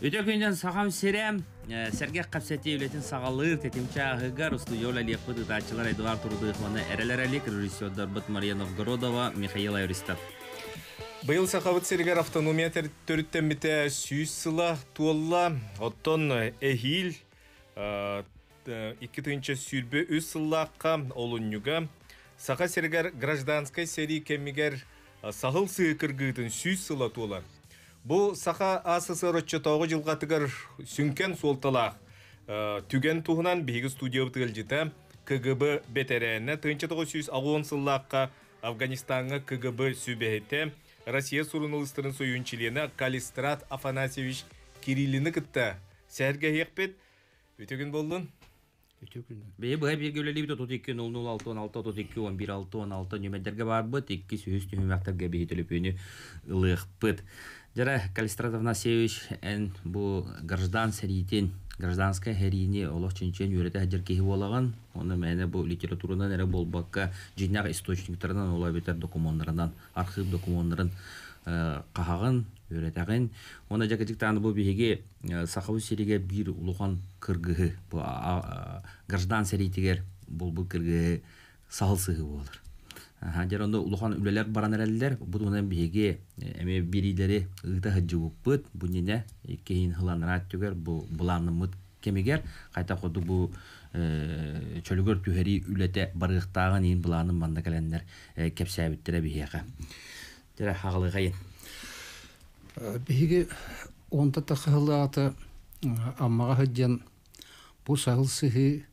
Үтө күнүнэн Сахам сирэ сэргэх кэпсэтии үлэтин саҕалыыр тэтим чааһыгар устудьуо үлэлиэхпит ыытааччылар Эдуард Рудых уонна Эрэл Эрэлик, режиссердарбыт Мария Новгородова, Михаил Аристов. Быйыл Сахабыт сиригэр автономия төрүттэммитэ 100 сыла туолла. Оттон эһиил 2023 сыллаахха олунньуга Саха сиригэр гражданскай сэрии кэмигэр саһыл сыы кыргыытын 100 сыла туолар. Бу Саха АССР оччотооҕу дьылҕатыгар сүҥкэн суолталаах түгэн туһунан биһиги студиябыт ыалдьыта КГБ бэтэрээнэ 1980 сыллаахха Афганистаҥҥа КГБ сүбэһитэ, Россия суруналыыстарын сойуун чилиэнэ Калистрат Афанасьевич Кириллины кытта сэһэргэһиэхпит. Үтүө күн буоллун. Үтүө күн. Бэйэ быһа бииргэ үлэлиибит 32 00 6 16 32 11 6 16 нүмердэргэ баарбыт. Иккис, үһүс түһүмэхтэргэ биһи төлөпүөнү ылыахпыт. Дьара, Калистрат Афанасьевич, эн бу граждан сэриитин, гражданскай сэриини олох чинчийэн үөрэтэ сылдьар киһи буолаҕын. Онно мээнэ бу литературанан эрэ буолбакка, дьиҥнээх источниктарынан, ол эбэтэр докумуоннарынан, архыып докумуоннарын хаһаҕын, үөрэтэҕин. Уонна дьэ кырдьыктаан бу биһиги Сахабыт сиригэр биир улахан кыргыһы, бу граждан сэриитигэр булбут кыргыһы саһыл сыһыы буолар. Дьэ онно улахан үлэлэр баран эрэллэр. Бу туһунан биһиги эмиэ биэриилэри ыыта сылдьыбыппыт. Бу иннинэ иккиһин сыланнара өттүгэр бу былааннаммыт кэмигэр хайдах курдук бу чөлүгэр түһэрии үлэтэ барыахтааҕын иһин былаанын манна кэлэннэр кэпсээбиттэрэ биһиэхэ. Дьэ, хаҕылыхайын. Биһиги онто тахыһылаата Аммаҕа сылдьан бу саһыл сыһыы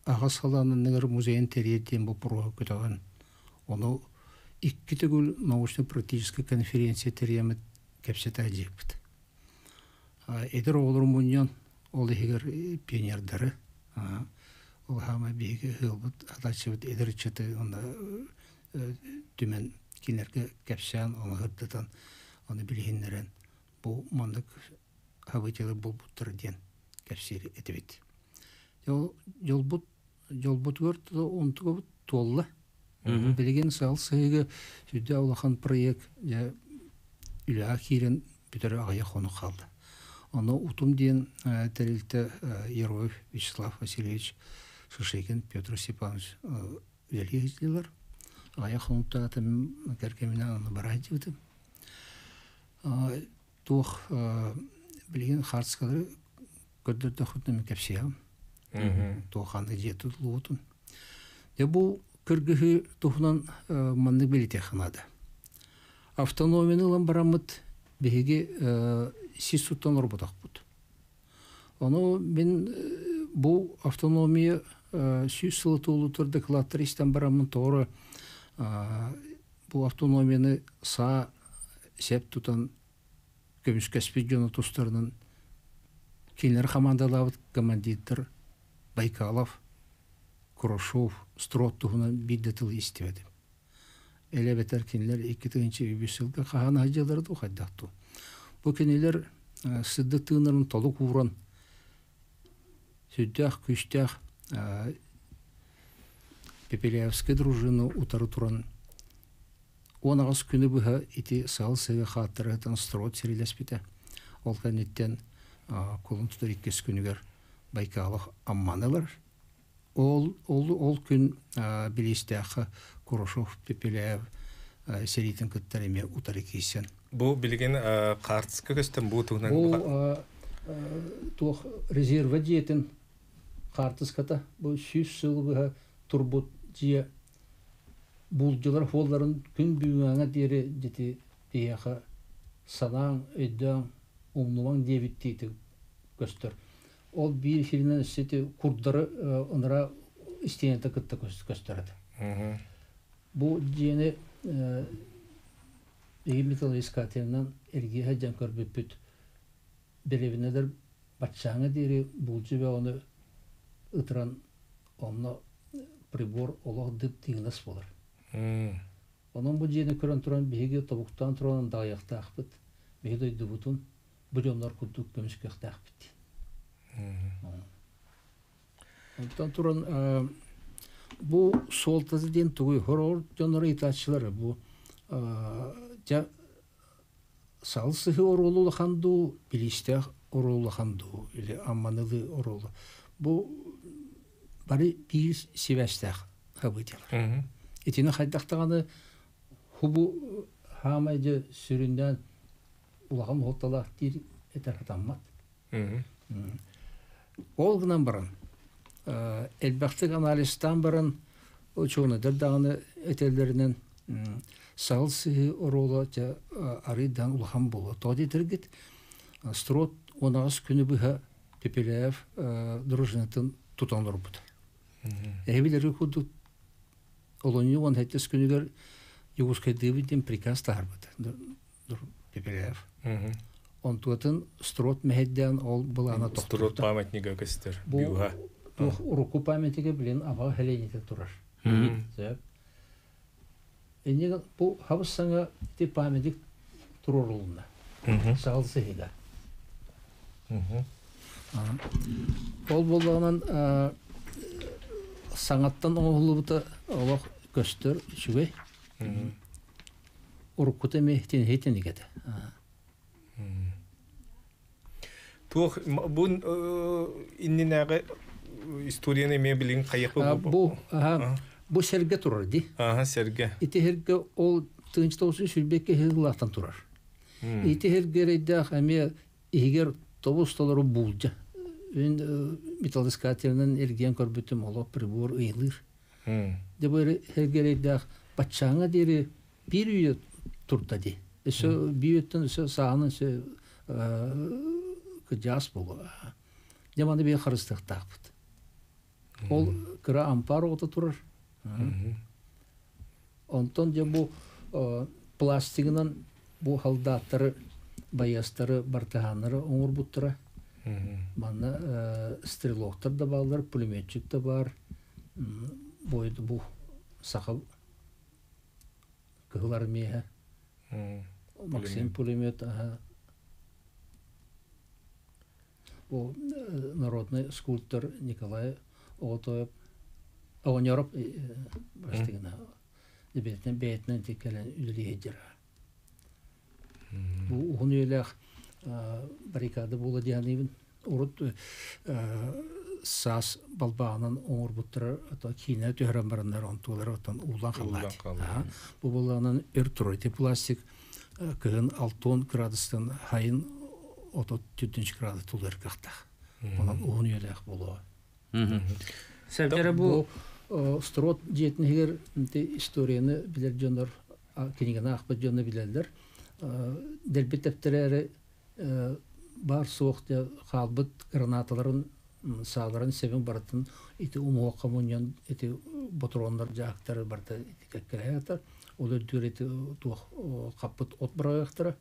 аҕа салааныныгар музейын тэрийэр диэн боппуруоһу көтөҕөн, ону икки төгүл научно-практическай конференция тэрийэммит кэпсэтэ дьиэппит. Эдэр оҕолору мунньан, ол иһигэр пионердары, ол хаама биһиги ыалбыт атааччыбыт эдэр ыччаты уонна түмэн кинилэргэ кэпсээн, ону сырдатан, ону билиһиннэрэн бу маннык событиелар буолбуттар диэн кэпсиир этибит. Дьолбут дьолбутугар онтугабыт туолла. Билигин саал сыһыыга сүрдээх улахан проект дьэ үлэҕэ киирэн бүтэрэ аҕыйах хонук хаалла. Ону Утум диэн тэрилтэ Ероев Вячеслав Васильевич Шишигин Петр Степанович үлэлии сылдьаллар. Аҕыйах хонуктаата кэргэминэн аны бара сылдьыбытым. Туох билигин хаартыскалары көрдөрдөхпүтүнэ кэпсиэҕим. Туох ханнык дьиэ тутуллубутун. Дьэ бу кыргыһыы туһунан маннык билитиэххэ наада. Автономияны ылан бараммыт биһиги сис суттан олорботохпут. Ону мин бу автономия 100 сыл туолуутугар дакылааттары истэн бараммын тоҕо бу автономияны саа сэп тутан көмүскэспит дьону тустарынан кинилэр хамаандалаабыт командирдар Байкалов, Курашов, Строд туһунан биир да тылы истибэтим. Элэ эбэтэр кинилэр 2003 сылга хаһан сылдьаллара дуу хайдах дуу. Бу кинилэр сырдык тыыннарын толук ууран сүрдээх күүстээх Пепеляевскай дружина утары туран 18 күнү быһа ити саал сыһыы хааттарыттан строд сирилэспитэ. Ол кэнниттэн кулун тутар иккис күнүгэр Байкалов Амманы ылар. Ол, ол, ол күн Билиистээххэ Курашов Пепеляев сэриитин кыттар эмиэ утары киирсэн. Бу билигин хаартыска көстөн бу туһунан Бу туох резервэ дьиэтин хаартыската бу 100 сыл быһа турбут дьиэ булдьулар хуолларын күн бүгүҥҥэ диэри дьити биһиэхэ санааҥ, өйдөөҥ, умнумаҥ диэбиттии көстөр. Ол биир сиринэн өссө ити курдары ынара истиэнэтэ кытта көстөр этэ. Бу дьиэни биһиги металлоискателинэн эргийэ сылдьан көрбүппүт. Дэриэбинэлэр баччааҥҥа диэри булдьу бөҕөнү ытыран онно прибор олох дып-дыҥынас буолар. Онон бу дьиэни көрөн туран биһиги тобуктаан туран даҕайыахтаахпыт. Биһи дойдубутун бу дьоннор курдук көмүскүөхтээхпит. Онтон туран бу суолтата диэн тугуй? Хороҕор дьоннор ыйытааччылар бу дьэ. Сал сыһы оруолу улахан дуу, билиистээх оруолу улахан дуу, или амманылыы оруолу. Бу бары биир сибээстээх событиялар. Итини хайдах даҕаны хубу хаамай дьэ сүрүннээн улахан уһукталаах диир этэр сатаммат. Ол гынан баран, элбэхтик анализтаан баран, учуонайдар даҕаны этэллэринэн саҕыл сыһыы оруола дьэ арыйдаан улахан буолуо. Тоҕо диэтэргит, Строд 18 күнү быһа Пепеляев дружинатын тутан олорбута. Эһи курдук олунньу 17 күнүгэр Якутскайдыыбыт диэн приказ таһаарбыта Пепеляев. Онтуотун Строд мэһэйдээн ол былаана тохтубута. Строд памятнига көстөр. Бу урукку памятнига билин аба хелените турар. Сөп. Иннигин бу хабыс саҥа ити памятник турорулунна. Саҕал сыһыга. Ол буоллаҕынан саҥаттан оҥоһуллубута олох көстөр үчүгэй. Уруккута эмиэ тиниһи этэ. Туох бу иннинээҕи историяны эмиэ билин хайыхпы бу бу сэргэ турар ди. Аха сэргэ. Ити сэргэ ол тыынчы тоҕус сүрбэккэ сыллаахтан турар. Ити сэргэ эрэйдээх эмиэ иһигэр тобус толору буулдьа. Үн металлоискателинэн эргийэн көрбүтүм олох прибор ыйылыыр. Дьэ бу сэргэ эрэйдээх баччааҥҥа диэри биир үйэ турда ди. Өссө биир үйэттэн өссө сааһынан өссө кыдьаас буолуо. Дьэ маны биир харыстыахтаахпыт. Ол кыра ампаар оҕото турар. Онтон дьэ бу пластигынан бу халдааттары, байыастары, бартыһааннары оҥорбуттара. Манна стрелоктар да бааллар, пулеметчик да баар. Бу саха Кыһыл Армия Максим пулемет бу народный скульптор Николай Оҕотоев Оҕонньоров бастыгына бэйэтинэн бэйэтинэн кэлэн үлэлии сылдьар. Бу уһун үйэлээх баррикада буола диэханыыбын. Урут саас балбааҕынан оҥорбуттара киинэ түһэрэн бараннар онтулара оттон уулан халлаат. Бу буоллаҕынан өр турар. Ити пластик кыһын 60 градустан хайын 34 градус тулуйар кыахтаах. Онон уһун үйэлээх буолуо. Сәбдэрэ бу Строд дьиэтин иһигэр историяны билэр дьоннор кинигэни аахпыт дьоно билэллэр. Дэлби тэптэрээри баар суох хаалбыт гранаталарын сааларын сэбин барытын ити умуһуохха мунньан ити ботуруоннар дьаактары барыта ити кэккэлэһэ ол үрдүгэр ити туох хаппыт от быраҕыахтара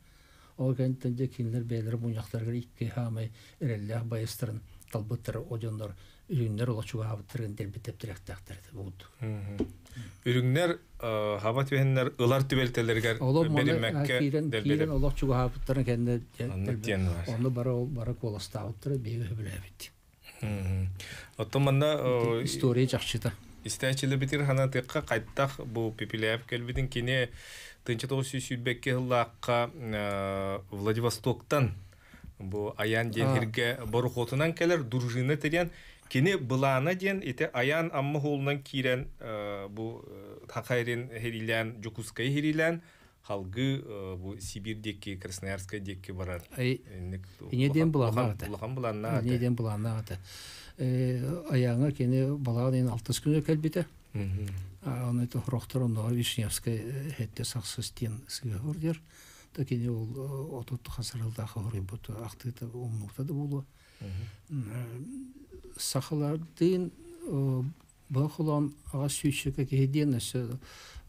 ол кэнниттэн дьэ кинилэр бэйэлэрэ мунньахтарыгар икки хаамай эрэллээх байыстарын талбыттара о дьоннор үрүҥнэр олох чугаһаабыттарын дэлби тэптирэхтээхтэр этэ бугут. Үрүҥнэр хаба түһэннэр ылар түбэлтэлэригэр бэриммэккэ киирэн олох чугаһаабыттарын кэннэ онно бары бары куоластаабыттара биһиги сөбүлээбит. Оттон манна история чахчыта. Истээччилэрбитигэр ханатыахха хайтах бу Пепеляев кэлбитин кини 1922 сыллаахха Владивостоктан бу Аян диэн сиргэ борохуотунан кэлэр дружина тэрийэн кини былаана диэн ити Аян Амма хоолунан киирэн бу Хахайрин хирилээн Дьокуускайы хирилээн халгыы бу Сибирь диэки Красноярскай диэки барар. Ине диэн былааннаах этэ. Улахан былааннаах этэ. Ине диэн былааннаах этэ. Аяҥа кини балаҕан ыйын алтыс күнүгэр кэлбитэ. Оны ити хорохтор онноҕор Вишневскай хетте сахсыс диэн сыыһа диэр. Та кини ол отут хасыралдаах хоруйбут ахтыыта умнуута да буолуо. Сахалардыын бу холоон аҕа сүүсчэкэ киһи диэн өссө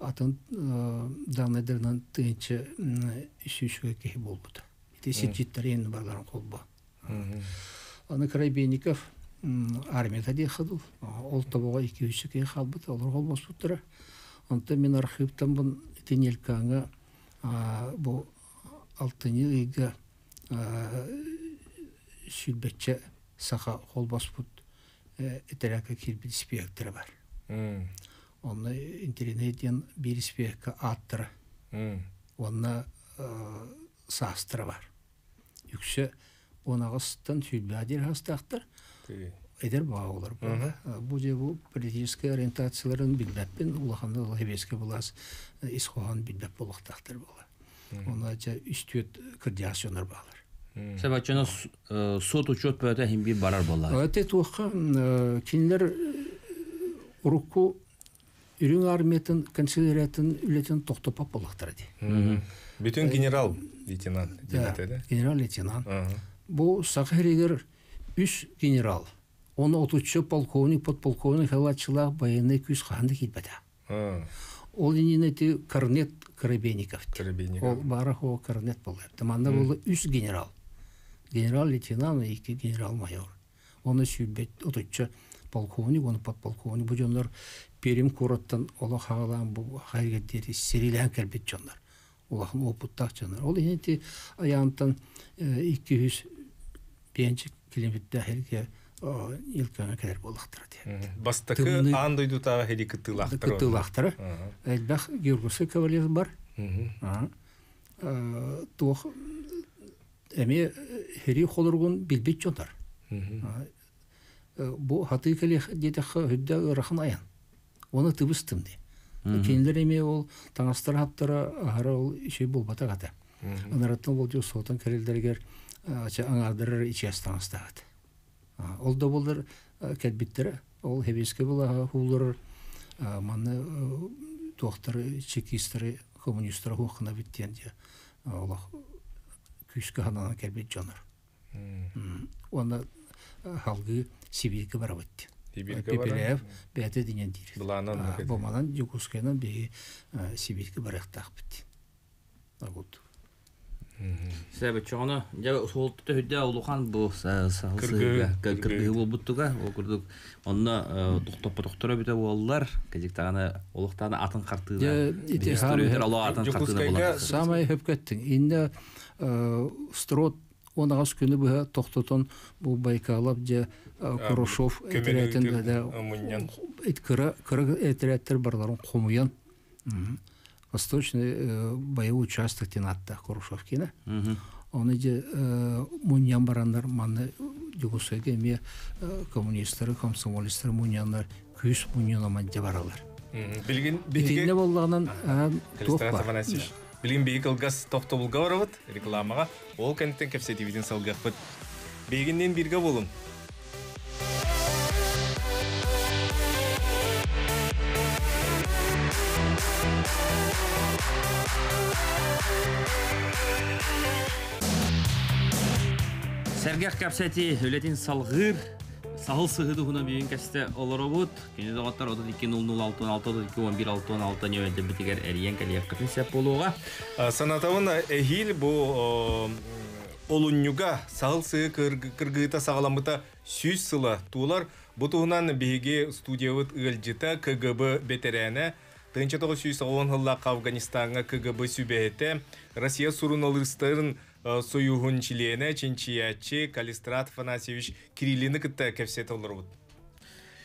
атын даанайдарынан тыһыынча сүүсчэкэ киһи буолбута. Ити сирдьиттэрин барыларын холбо. Аны Коробейников армията диэххэ дуу, ол тобоҕо 200 киһи хаалбыт, олор холбоспуттара. Онтон мин архыыптан бун ити Нелькаҥҥа бу алтынньы ыйга сүүрбэччэ саха холбоспут этэрээккэ киирбит испиэктэрэ бар. Онно интеллигент диэн биир испиэккэ ааттара. Уонна саастара бар. Үксэ 18-тан 20 диэри саастаахтар. Эдэр баҕалар буолла. Бу же бу политическай ориентацияларын билбэппин, улаханнык сэбиэскэй былаас ис хоһоон билбэт буолуохтаахтар буолла. Онно дьэ үс-түөрт кырдьаҕас дьоннор баалар. Себаччаны суот учет бөтө иһин биир барар буолла. Эти туохха кинилэр урукку Үрүҥ армиятын канцеляриятын үлэтин тохтоппот буоллахтара дии. Бүтүн генерал лейтенант диэбитэ. Генерал лейтенант. Бу Саха сиригэр үс генерал, оны отучча полковник, подполковник халатчылаах байыаннай күүс хаһан да киирбэтэ. Ол иннинэ ити корнет Коробейников. Коробейников. Ол баара хуо корнет буолла. Манна буолла үс генерал. Генерал-лейтенант икки генерал-майор. Оны сүүрбэт отучча полковник, оны подполковник. Бу дьоннор Пермь куораттан олох хаалаан бу хайга диэри сэриилээн кэлбит дьоннор. Улахан опыттаах дьоннор. Ол иһин ити айаантан 200 километрдаах сиргэ Илкаҥа кэлэр буоллахтара диэн. Бастакы аан дойдутааҕы сэрии кыттыылаахтара. Кыттыылаахтара. Элбэх Георгиевскай кавалер бар. Туох эмиэ сэрии холоругун билбит дьоннор. Бу хатыы кэлиэх диэтэххэ үрдэ ыарахан айан. Оны тыбыстым дии. Кинилэр эмиэ ол таҥастара хаптара аһара ол үчүгэй буолбатах этэ. Анараттан болдьох суотан кэлэллэригэр аҥаардарар ичиэс таҥастаах этэ. Ол да буоллар кэлбиттэрэ. Ол Хэбиэскэ былааһа хуулларар манна туохтары чекистары коммунистары хуоххана бит диэн дьэ олох күүскэ сананан кэлбит дьонор. Уонна салгыы Сибииргэ барабыт диэн. Пепеляев бэйэтэ диэн диир. Бу манан Дьокуускайынан биһиги Сибииргэ барыахтаахпыт диэн. Вот. Себеччоҕуна дьэ суолта төһүдэ улахан бу саһыл кыргыһыы буолбуттуга ол курдук онно тохтоппотохторо бүтэ буоллар кэдьиктаҕына олохтаана атын хартыына атын хартыына Самай хөпкөттүң инне строт 18 күнү быһа тохтотон бу Байкалов дьэ Курашов этэрээтин кыра кыра этэрээттэр барыларын хомуйан Восточный боевой участок диэн ааттаах Курашов киинэ. Оны дьэ мунньан бараннар манна Дьокуускайга эмиэ коммунистары, комсомолецтары мунньаннар күүс мунньунаман дьэ баралар. Билигин Итиннэ буоллаҕынан туох бар? Билигин биһиги кылгас тохтобулга барабыт рекламаҕа. Ол кэнниттэн кэпсэтиибитин салгыахпыт. Биһигинниин бииргэ буолуҥ. Сэргэх кэпсэтии үлэтин салгыыр саһыл сыһы туһунан бүгүн кэстэ олоробут. Күнү доҕоттор 32 00 6 32 11 66 нөмердэрбитигэр эрийэн кэлиэххитин сөп буолуоҕа. Санатабын эһиил бу олунньуга саһыл сыһы кыргыыта саҕаламмыта 100 сыла туолар. Бу туһунан биһиги студиябыт ыалдьыта КГБ бэтэрээнэ 1990 сыллаахха Афганистаҥҥа КГБ сүбэһитэ, Россия суруналыыстарын Союһун чилиэнэ, чинчийээччи Калистрат Афанасьевич Кириллины кытта кэпсэтэ олоробут.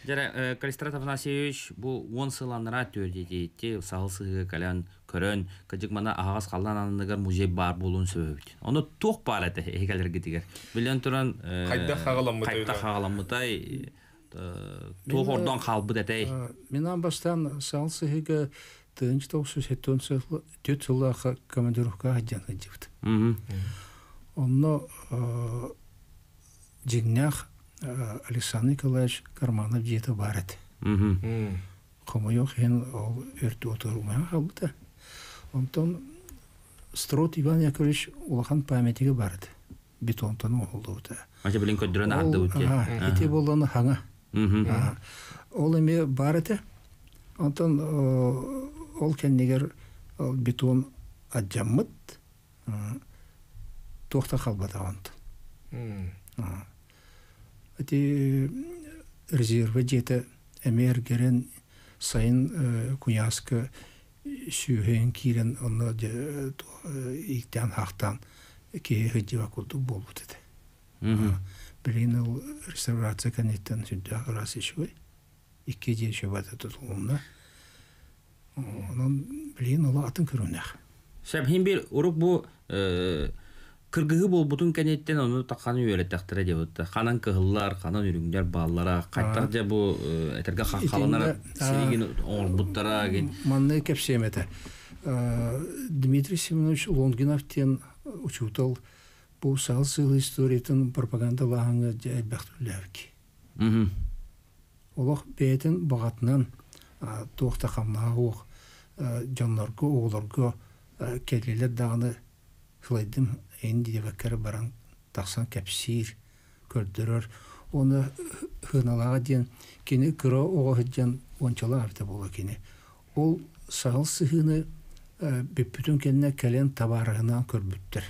Дьэрэ, Калистрат Афанасьевич бу 10 сыл анараа түөрдэтиитти саһыл сыһыга кэлэн көрөн, кыдьык мана аһаҕас халлаан анныгар музей баар буолуон сөбөбүт. Ону туох баар этэ эһигэлэргитигэр? Билэн туран, хайдах хаҕаламмытай? Хайдах хаҕаламмытай, туох ордон хаалбыт этэй? Мин аан бастаан саһыл сыһыга 1974 сыллаахха командировкаҕа сылдьан сылдьыбыт. Онно дьиҥнээх Александр Николаевич Карманов дьиэтэ баар этэ. Хомойуох иһин ол өртү отуругунан хаалбыта. Онтон Строд Иван Яковлевич улахан памятнига баар этэ. Бетонтан оҥоһуллубута. Ача билин көрдөрөн аһардыбыт дии. Ити буоллаҕына хаҥа. Ол эмиэ баар этэ. Онтон ол кэннигэр бетон алдьаммыт. Туох да хаалбатах онтон. Ити резервэ дьиэтэ эмиэ эргэрэн сайын куйааска сүүһэйэн киирэн онно ииктээн-хаахтаан киһи сылдьыбат курдук буолбут этэ. Билигин ол реставрация кэнниттэн сүрдээх ыраас үчүгэй. Икки дьиэ үчүгэй тутулунна. Онон билигин ол атын көрүҥнээх. Сөп хин бир урук бу кыргыһы буолбутун кэнниттэн ону тахханы үөрэтэхтэрэ диэбит. Ханан кыһыллар, ханан үрүҥнэр бааллара, хайтах дьэ бу этэргэ хаххаланар сиригин оҥорбуттара гин. Манна кэпсиэм этэ. Дмитрий Семенович Лонгинов диэн учуутал бу саал сыылы историятын пропагандалааһыҥҥа дьэ элбэх үлэлээбит. Олох бэйэтин баҕатынан туох да хамнаһа суох дьоннорго, оҕолорго кэллилэр даҕаны сылайдым эн диэбэккэ баран тахсан кэпсиир, көрдөрөр. Уонна сыаналааҕа диэн кини кыра оҕо сылдьан уончалаах эбитэ буолуо кини. Ол саһыл сыһыыны бүппүтүн кэннэ кэлэн табаарыһынаан көрбүттэр.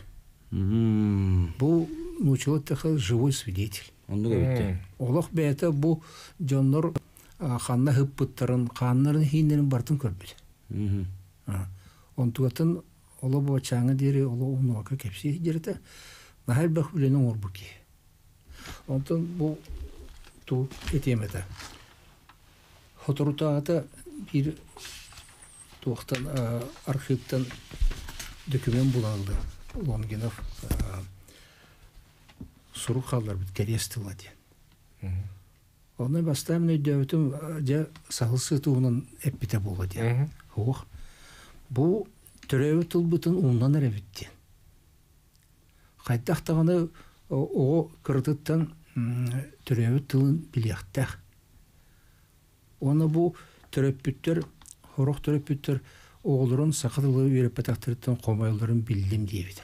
Бу нууччалыы эттэххэ живой свидетель. Оннук эбит. Олох бэйэтэ бу дьоннор ханна ыһыппыттарын, хааннарын иһииннэрин барытын көрбүт. Онтугатын оло бочааҥҥа диэри оло умнубакка кэпсии сылдьар наһаа элбэх үлэни оҥорбут киһи. Онтон бу ту этиэм этэ. Соторутааҕыта биир туохтан архыыптан документ булан ыллым. Лонгинов сурук хаалларбыт кэриэс тыла диэн. Онно бастаан мин өйдөөбүтүм дьэ саһыл сытуунан эппитэ буолуо диэн. Суох. Бу төрөөбүт тылбытын умнан эрэбит диэн. Хайдах даҕаны оҕо кыратыттан төрөөбүт тылын билиэхтээх. Уонна бу төрөппүттэр, сорох төрөппүттэр оҕолорун саха тылы үөрэппэтэхтэриттэн хомойоллорун биллим диэбитэ.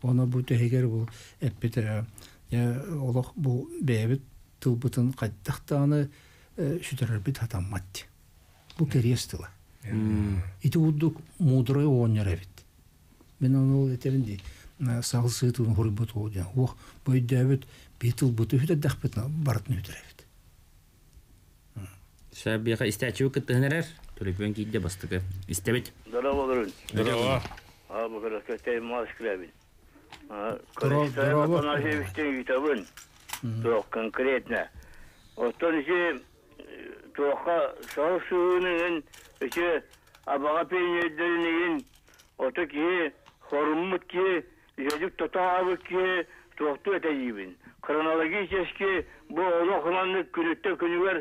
Уонна бу тэһигэр бу эппитэ олох бу бэйэбит тылбытын хайдах даҕаны сүтэрэрбит сатаммат диэн. Бу кэриэс тыла. Ити курдук муударай оҕонньор эбит. Мин ону ол этэбин дии саҕыл сыытын хоруйбут ол диэн. Уох, бу өйдөөбүт биир тылбыты үтэрдэхпитинэ барытын үтэрэбит. Сәбиэхэ истээччиби кыттыһан эрэр. Төлөпүөн киирдэ бастакы. Истэбит. Здорово, Здорово. А, бу көрөкөтөй Москвабин. Здорово. Ыытабын. Туох конкретно. Оттон ити туохха саҕыл сыһыыныгын ити абаҕа пионердэрин ото киһи хоруммут киһи үһөдүк тотообут киһи туохтуу этэ диибин. Хронологически бу олох маннык күнүттэн күнүгэр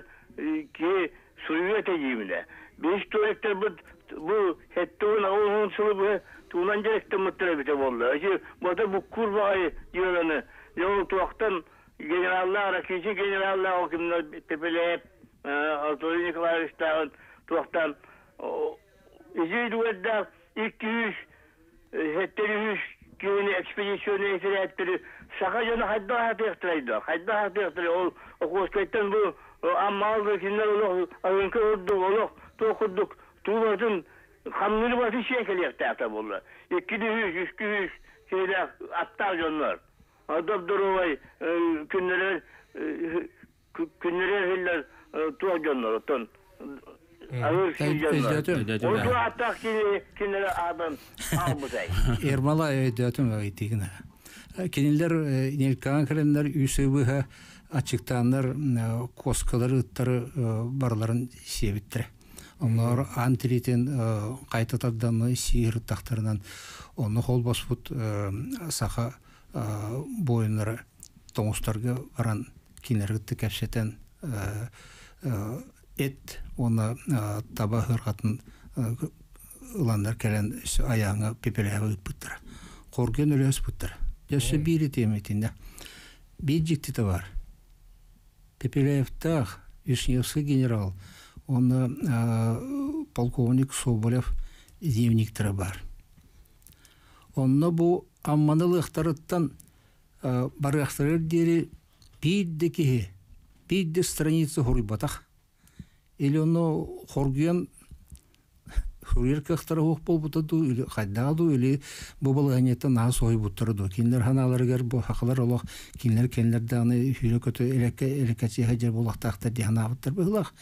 киһи суруйуо этэ диибинэ. Биһи историктарбыт бу хэттуун аҕыс сылы быһа туунан дьарыктаммыттар эбитэ буолла. Ити бата буккуур баҕайы дьыаланы ол туохтан генераллаах Ракичи генераллаах кимнэр Пепелеев Анатолий Николаевичтааҕын туохтан ити дуэрдээх 273 киһини экспедиционный этэрээттэри саха дьоно хайдах аһатыахтарай да хайдах аһатыахтарай ол Охотскайтан бу Аммаал кинилэр олох аһыҥка курдук олох туох курдук туулатын хамныыр баты сиэн кэлиэхтээхтэр буолла 200 300 киһилээх аттаах дьоннор доп-доруобай күннэрэр күннэрэр иһиллэр туох дьоннор оттон аһыыр сиир дьоннор ол туох аттаах кини кинилэр аатан аалбытай Ермолай өйдөөтүм ыйтыгына. Кинилэр Нелькаан кэлэннэр үс ый быһа аччыктааннар куоскалары ыттары барыларын сиэбиттэрэ. Онноор аан тириитин хайта тардан сиир ыттахтарынан онно холбоспут саха буойуннара тоҥустарга баран кинилэри кытта кэпсэтэн эт уонна таба ыарҕатын ыланнар кэлэн айааҥҥа пепелээҕи ыыппыттара. Хоргуйан өлө ыспыттара. Дьэ өссө биир этиэм итиннэ. Биир дьиктитэ баар. Пепеляевтаах Вишневский генерал уонна полковник Соболев дневниктэрэ баар. Онно бу Амманы ылыахтарыттан барыахтарыгар диэри биир да киһи, биир да страница суруйбатах. Или ону хоргуйан суруйар кыахтара суох буолбута дуу, или хайдаҕа дуу, или бу балаһыанньаттан наһаа соһуйбуттара дуу. Кинилэр санааларыгар бу сахалар олох кинилэр кинилэр даҕаны сүүрэ-көтө элеккэ элеккэчиэ сылдьар буолуохтаахтар дии санаабыттар быһыылаах.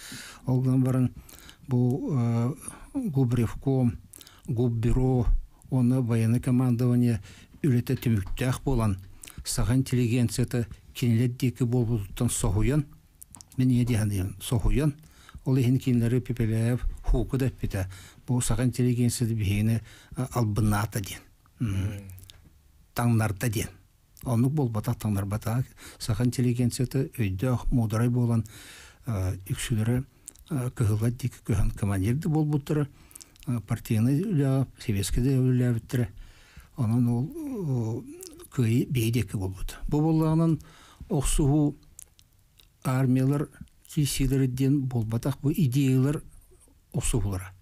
Ол гынан баран бу губревком, губбюро уонна военное командование үлэтэ түмүктээх буолан, саха интеллигенцията кинилэр диэки буолбутуттан соһуйан, мин ийэ дии саныыбын, соһуйан, Ол иһин кинилэри Пепеляев хуку да эппитэ. Бу саха интеллигенцияты биһигини албыннаата диэн. Таҥнарда диэн. Оннук буолбатах, таҥнарбатах. Саха интеллигенцията өйдөөх, муударай буолан үксүлэрэ кыһыллар диэки көһөн командир да буолбуттара, партийнай үлэҕэ, советскай да үлэлээбиттэрэ. Онон ол кыайыы биһи диэки буолбут. Бу буоллаҕынан охсуһуу армиялар киирсиилэрэ диэн буолбатах, бу идеялар охсуһуулара.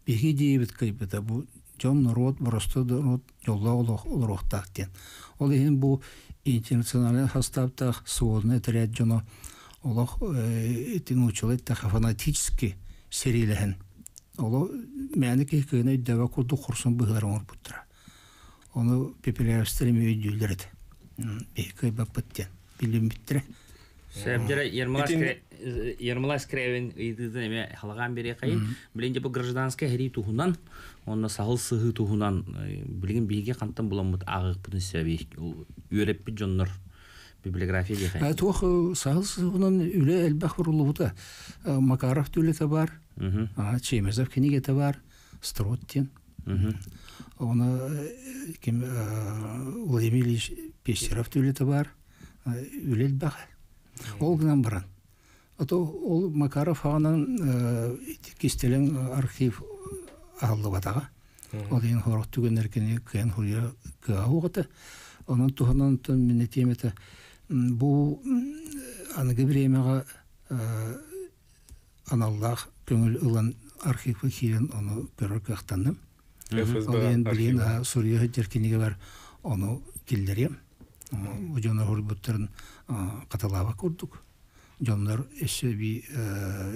Биһиги идеябыт кыайбыта бу дьон норуот, боростуой норуот дьоллоох олох олоруохтаах диэн. Ол иһин бу интернациональнай састааптаах сводный отряд дьоно олох ити нууччалыы эттэххэ фанатически сэриилэһэн оло мээнэ киһи кыайан өйдөөбөт курдук хорсун быһыылары оҥорбуттара. Ону Пепеляевстар эмиэ өйдүүллэр этэ. Биһиги кыайбаппыт диэн билиммиттэрэ. Сөбдөрө Ермолай Скрябин ыйытыытын эмиэ халаҕаан биэриэхэйин. Билигин дьэ бу гражданскай сэрии туһунан, уонна саһыл сыһыы туһунан билигин биһиги хантан буламмыт ааҕыахпытын сөбүй? Үөрэппит дьоннор библиография диэхэйин. Туох саһыл сыһыынан үлэ элбэх уруллубута. Макаров үлэтэ бар, Чемезов кинигэтэ бар, Строт диэн. Оны ким Владимир Ильич Пестеров үлэтэ бар, үлэ элбэх. Ол гынан баран, ото ол Макаров аҕынан кистэлэҥ архив аһыллыбатаҕа. Ол иһин сорох түгэннэр кини кыайан суруйар кыаҕа суох этэ. Онон туһунан мин этиэм этэ, бу аныгы бириэмэҕэ аналлаах көҥүл ылан архивка киирэн ону көрөр кыахтанным. Ол иһин билигин суруйа сылдьар кинигэбэр ону киллэриэм. Бу дьоннор суруйбуттарын хатылаабат курдук. Дьоннор өссө эбии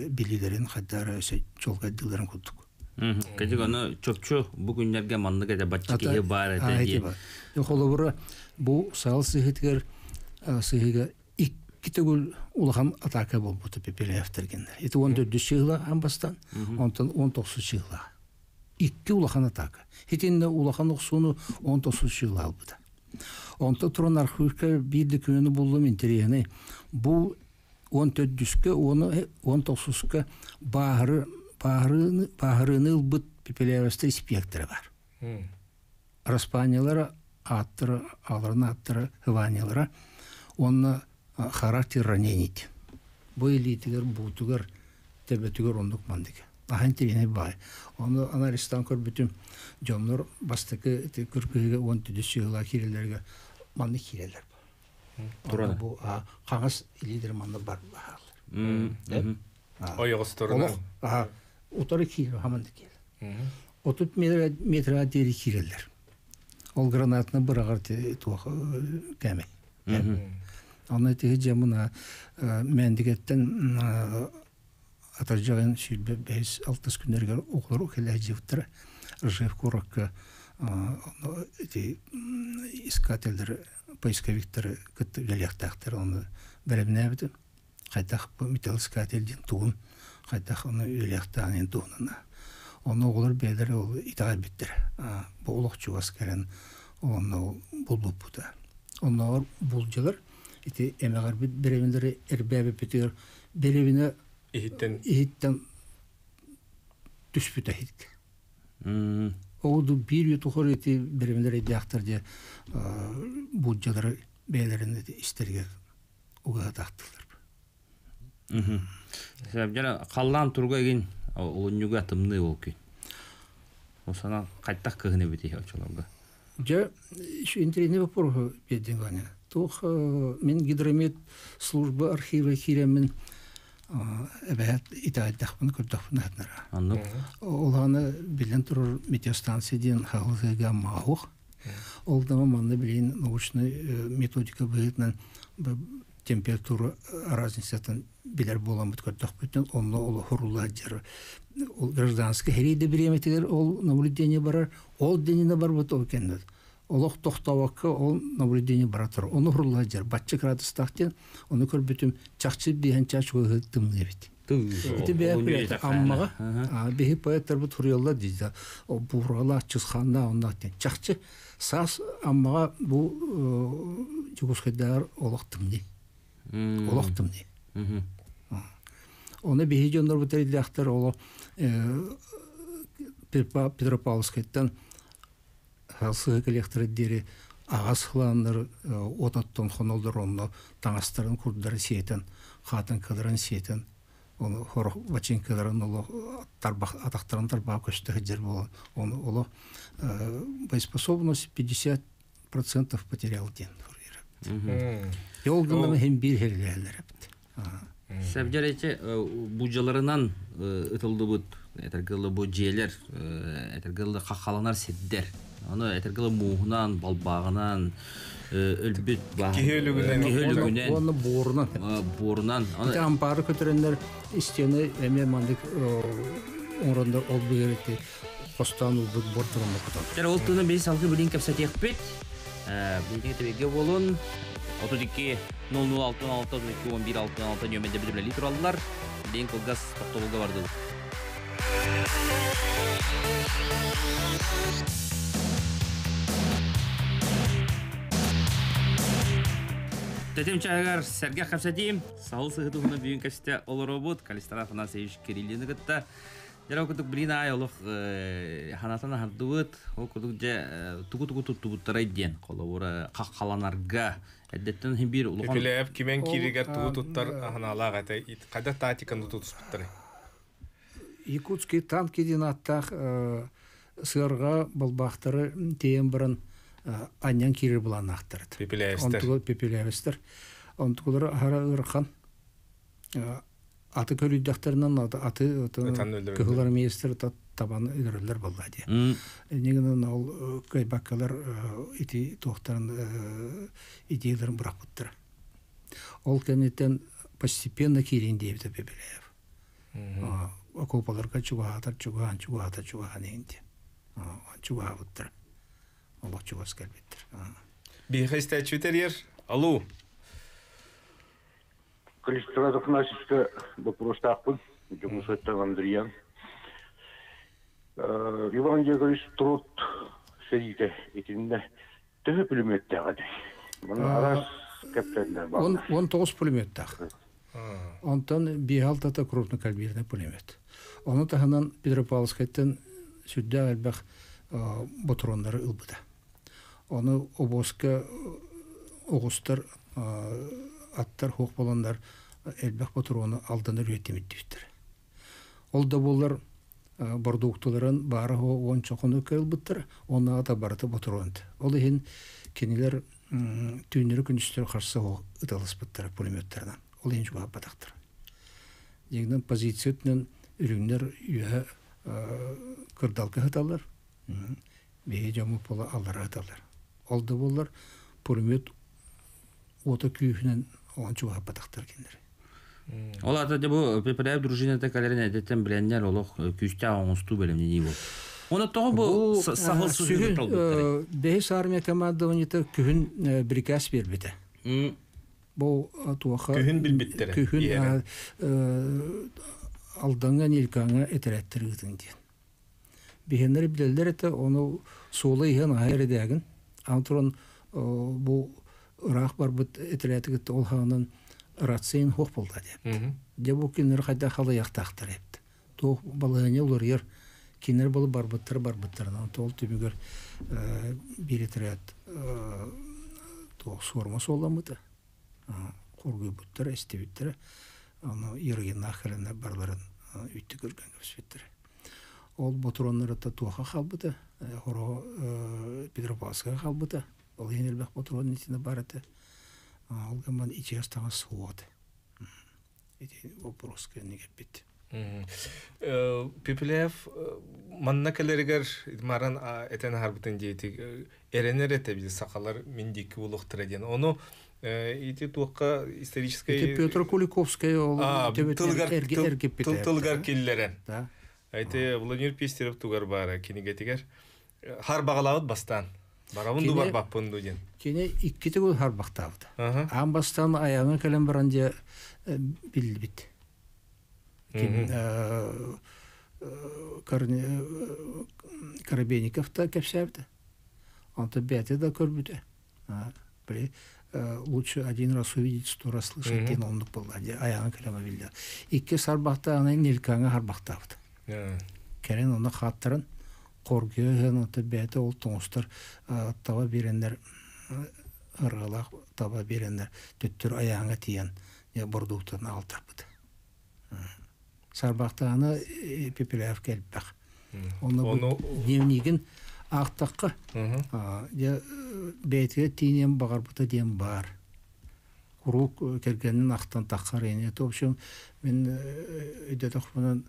билиилэрин хайдах өссө чуолкайдыылларын курдук. Кэтик ону чопчу бу күннэргэ маннык этэ бачча киһи баар этэ диэн. Холобура бу саал сыһыытыгар сыһыыга икки төгүл улахан атака буолбута Пепеляевтэргиннэр. Ити 14 чыһыла аан бастаан, онтон 19 чыһыла. Икки улахан атака. Итиннэ улахан охсууну 19 чыһыла албыта. Онтон туран архивка биир да күнү буллум интэриэһинэй. Бу 14-үскэ, 19-ка бааһыры, бааһырыыны, бааһырыыны ылбыт Пепеляевстар испиэктэрэ бар. Распаниялара ааттара, ааларын ааттара, ываниялара уонна характер ранений. Бу илиитигэр, буутугар, төбөтүгэр оннук мандык. Аһын тириэнэй баай. Ону анализтаан көрбүтүм, дьоннор бастакы кыргыһыыга 14 сыһыылаах киирэллэригэр маннык киирэллэр. Туран. Бу хаҥас илиилэр манна бар бааллар. Ойоҕосторунан. Олох утары киирэр, хаманнык киирэр. 30 метрға диэри киирэллэр. Ол гранатаны быраҕар туох кэмэ. Онно тиһи дьамына Мээндигэттэн атырдьаҕын 25-6 күннэригэр оҕолор кэлээдьибиттэрэ. Ржев куоракка ити искателлэр, поисковиктары кытта үлэлиэхтээхтэр. Ону бэлэмнээбитим. Хайдах бу металлоискатель диэн тугун, хайдах ону үлэлиэхтээҕин туһунан. Ону оҕолор бэйэлэрэ ол итэҕэйбиттэрэ. Бу олох чугас кэлэн онно булбуппута. Оннооҕор булдьалар ити эмэҕирбит бэрэбинэлэри эрбээбиппитигэр бэрэбинэ иһиттэн иһиттэн түспүтэ иһит. Ол биир үйэ тухары ити бэрэбинэлэр өйдөөхтөр дьэ булдьалары бэйэлэрин истэригэр угаһатаахтылар. Дьэ халлаан туруга игин олунньуга тымныы ол күн. Ол санаа хайтах кыһын эбит очолорго. Дьэ, интэриэһинэй боппуруоһу биэрдиҥ Ваня. Туох мин гидромет служба архива киирэммин эбэһээт итэҕэйдэхпин көрдөхпүн аһатнара. Оннук. Ол биллэн турар метеостанция диэн хаһылыга маһуох. Ол да манна билигин научнай методика быһыытынан температура разницатын билэр буоламмыт көрдөхпүтүн онно ол хурулла дьар ол гражданскай сэрии да бириэмэтигэр ол наблюдение барар ол дэнинэ барбыт ол кэннэ олох тохтообокко ол наблюдение бара турар ону хурулла дьар бачча градустаах диэн ону көрбүтүм чахчы биэһэн чаас чугаһы тымныы эбит Ити бэйэ Аммаҕа биһи поэттарбыт суруйаллар дииллэр. Бууралаах, Чысхааннаах онноох диэн. Чахчы саас Аммаҕа бу Дьокуускайдааҕар олох тымныы. Олох тымныы. Оны биһи дьоннор бу тэриллээхтэр оло Петропавловскайтан сыһы кэлиэхтэрэ диэри аҕас хылааннар ототтон хоноллор онно таҥастарын курдары сиэтэн, хаатыҥкаларын сиэтэн, ону хорох бачыыҥкаларын олох тарбах атахтарын тарбаҕа көстө сылдьар буолан ону олох боеспособность 50% потерял диэн суруйар. Ол гынан иһин биир хэрилээллэр эбит. Сәбдьэр будьаларынан ытыллыбыт этэргылы бу дьиэлэр этэргылы хаххаланар сирдэр. Ону этэргылы мууһунан, балбааҕынан өлбүт киһи өлүгүнэн киһи өлүгүнэн уонна буорунан буорунан ити ампаары көтөрөннөр истиэни эмиэ маннык оҥороннор ол быгырыти хостоон ылбыт буор туруммут. Тэр ол туна биһи салгы билин кэпсэтиэхпит. Билиҥ тэбигэ буолун. 32 00 66 32 11 66 нөмерде билиблели тураллар. Билин кылгас тохтобулга бардыбыт. Тэтим чаһыгар сэргэх кэпсэтиим. Саһыл сыһытыһына бүгүн кэпсэтэ олоробут. Калистра Афанасьевич Кириллины кытта. Дьэ, ол курдук билин аай олох ханатан аһардыбыт. Ол курдук дьэ тугу-тугу туттубуттарай диэн холобура хаххаланарга эрдэттэн иһин биир улахан Пепеляев кимэн кииригэр тугу туттар аһынаалаах этэ хайда тактиканы тутуспуттарай? Якутские танки диэн ааттаах сыарҕа балбаахтары тиэйэн баран анньан киирэр былааннаахтар этэ. Пепеляевстэр. Пепеляевстэр. Онтукулара аһара ыарахан. Аты көлүйдэхтэринэн аты кыһыл армеецтэр табан өлөрөллөр буолла дии. Иннигинэн ол кыайбаккалар ити туохтарын идеяларын бырахпыттара. Ол кэнниттэн постепенно киирин диэбитэ Пепеляев. Окуопаларга чугаһаатар чугаһаан чугаһаата чугаһаан иһин диэн. Чугаһаабыттар. Олох чугас кэлбиттэр. Биһиэхэ истээччи ер. Алло. Калистрат Афанасьевичка боппуруостаахпын. Дьокуускайтан Андриан. Иван Яковлевич Труд сэриитэ итиннэ төһө пулеметтээх этэй? Манна араас кэпсээннэр бааллар. 19 пулеметтаах. Онтон биэһ-алтата крупнокалиберный пулемет. Ону таһынан Петропавловскайтан сүрдээх элбэх ботуруоннары ылбыта. Ону обуоска оҕустар аттар суох буоланнар элбэх ботуруону алданар үөттэмиттибиттэр. Ол да буоллар бордуукталарын баара уонча хонук ылбыттар, оннааҕыта барыта ботуруон. Ол иһин кинилэр түүннэри күнүстэри харса ыталаспыттара пулеметтарынан. Ол иһин чугаһаппатахтар. Дьиҥинэн позиция өттүнэн үрүҥнэр үөһэ кырдалга сыталлар. Биһи дьоммут буола аллара сыталлар. Ол да буоллар пулемет уота күүһүнэн оҕон чугаһаппатахтар кинилэр. Ол аата дьэ бу Пепеляев дружината кэлэрин эдэттэн билэннэр олох күүстээх оҥостуу бэлэмнэнии буолла. Оны тоҕо бу саһыл сүһүн талбыттарый? Бэһис армия командованиета күһүн приказ биэрбитэ. Бу туоха күһүн билбиттэрэ. Күһүн Алдаҥҥа, Нилькаҥҥа этэрээттэр ыытын диэн. Биһиэннэр билэллэр этэ, ону суола иһэн аһа эрэдээгин. Аны туран бу ыраах барбыт этэрээти кытта ол хаҕынан рациян суох буолла диэбит. Дьэ бу кинилэр хайдах халыйахтаахтар эбит. Туох балаһыанньа уларыйар, кинилэр буолу барбыттар барбыттарынан ол түмүгэр биир этэрээт туох суорума суолламмыта. Хоргуйбуттара, эстибиттэрэ. Ону Ерыгиннаах кэлэннэр барыларын үттү көргөн кэбиспиттэрэ. Ол ботуруоннарыта туоха хаалбыта, хоро Петропавловскага хаалбыта. Ол иһин элбэх ботуруон итинэ бар этэ. Ол гынан ичигэс таҥас суох этэ. Ити вопрос кэннигэрбит. Пепеляев манна кэлэригэр маран этэн аһарбытын диэти эрэнэр этэ биз сахалар мин диэки буолуохтара диэн. Ону ити туохха историческай... Ити Петр Куликовскай ол тыл тылыгар киллэрэн. Ити Владимир Пестерев тугар баара кинигэтигэр харбаҕалаабыт бастаан. Барабын ду барбаппын ду диэн. Кини икки төгүл харбахтаабыт. Аан бастаан айаҥа кэлэн баран дьэ биллибит. Коробейников та кэпсээбитэ. Онтон бэйэтэ да көрбүтэ. Били Лучше один раз увидеть, сто раз слышать диэн оннук буолла. Айаҕын кэлэмэ биллэ. Икки сарбахтааны Нелькаҥа харбахтаабыт. Кэлин онно хааттаран хоргуйа ыһан онто бэйэтэ ол тоҥустар таба биэрэннэр ырыалаах таба биэрэннэр төттөрү айааҥҥа тиийэн бородууктатын аҕалтарбыт. Сарбахтааны Пепеляев элбэх. Онно дневнигин аахтахха дьэ бэйэтигэр тиийиэн баҕарбыта диэн баар. Куруук кэргэнин ахтан таххар ини. В общем, мин өйдөтөхпүнэн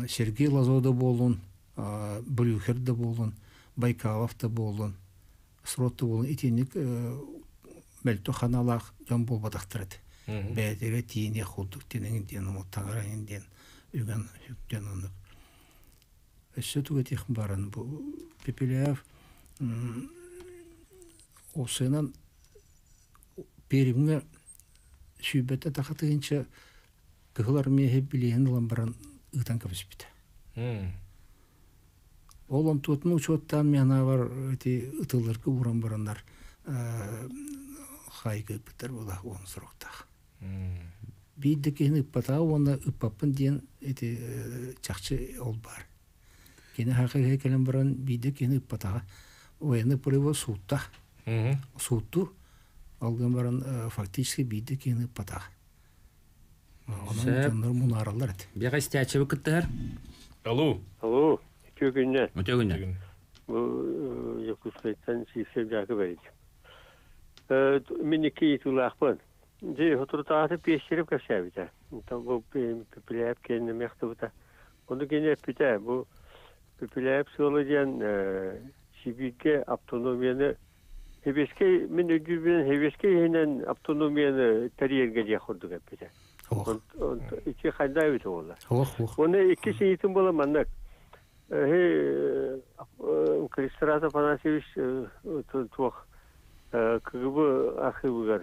Сергей Лазо да буоллун, Брюхер да буоллун, Байкалов да буоллун, Срот да буоллун итинник мөлтөх ханалаах дьон буолбатахтар этэ. Бэйэтигэр тиийиниэх курдук тиниҥ диэн таҥарайын диэн үгэн үктэн оннук. Өссө тугу этиэх баран бу Пепеляев уопсайынан Пермҥэ сүүрбэттэ таха тыһыынча Кыһыл Армия билиэһин ылан баран ыытан кэбиспитэ. Ол онтуотун учуоттаан миэхэ ити ытылларга ууран бараннар хаайга ыыппыттар буола уон сороктаах. Биир да киһини ыппатаҕа уонна ыппаппын диэн ити чахчы ол баар. Кини хакыга кэлэн баран биирдэ киһини ыппатаҕа. Военный полевой сууттах. Сууттуур. Ол гынан баран фактически биирдэ киһини ыппатаҕа. Онон дьоннор мунаараллар этэ. Биэҕэ истээччиби кыттыһар. Алло. Алло. Үтүө күннэр. Үтүө күннэр. Бу Якутскайтан Сивцев Жаков эбит. Мин икки ыйытыылаахпын. Дьэ, соторутааҕыта Пестерев кэпсээбитэ. Бу Пепеляев кэннэ мехтыбыта. Ону кини эппитэ, бу Пепеляев сыала диэн Сибииргэ автономияны Сэбиэскэй, мин өйдүүрбүнэн, сэбиэскэй иһинэн автономияны тэрийэргэ диэх курдук эппитэ. Ити хайда эбит буолла. Уонна иккис ыйытым буола маннык. Кристрат Афанасьевич туох КГБ архивыгар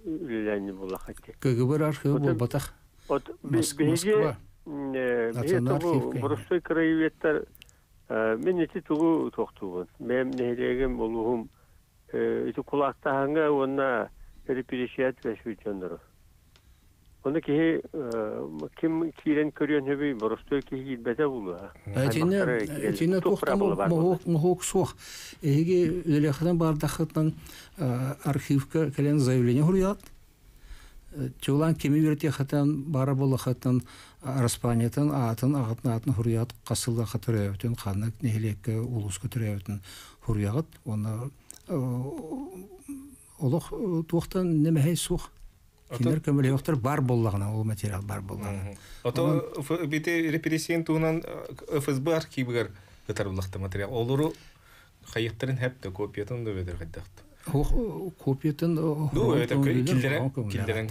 үлэлээн буоллаххай. КГБ архивы буолбатах. Биһиги биһиги боростуой краеведтар Мин ити тугу туохтуубун? Бэйэм нэһилиэгим, улууһум ити кулаактааһыҥҥа уонна репрессия түбэспит дьоннору. Ону киһи ким киирэн көрүөн сөбүй, боростуой киһи киирбэтэ буолуо. Итиннэ итиннэ туохтан моһуок суох. Эһиги үлэлиэххитин баардаххытынан архивка кэлэн заявление суруйаҕыт. Чулаан кими үөрэтиэххитин баара буоллаххытын араспаанньатын аатын, аҕатын аатын суруйаҕыт, хас сыллаахха төрөөбүтүн, ханнык нэһилиэккэ, улууска төрөөбүтүн суруйаҕыт. Уонна олох туохтан нэмэһэй суох. Кинилэр көмөлөһүөхтэр бар буоллаҕына, ол материал бар буоллаҕына. Ото бити репрессиян туһунан ФСБ архивыгар ытарыллахта материал. Олору хайыктарын хэп да копиятын да бедер хайдахт. Копиятын Ну, это киллерен киллерен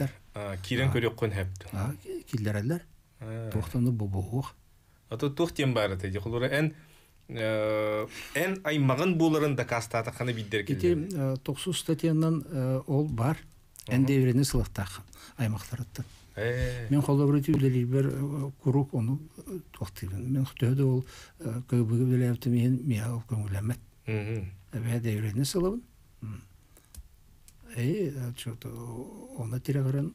киирэн көрүөххүн хэп. Киллереллер. Туохтан бобуох. Ото туох тем бар эте. Холура эн эн аймагын буларын дакастаатаххана биддер Ити тохсус статьянан ол бар. Эн дэврени сылыктаах аймактарыттан. Мен холобур үлэлиирбэр куруук ону туохтыыбын. Мен төһө да ол КГБ үлэлээбитим иһин миэхэ ол көҥүллэммэт. Эбээ дэврени сылабын. Э, что-то оны тирэҕирэн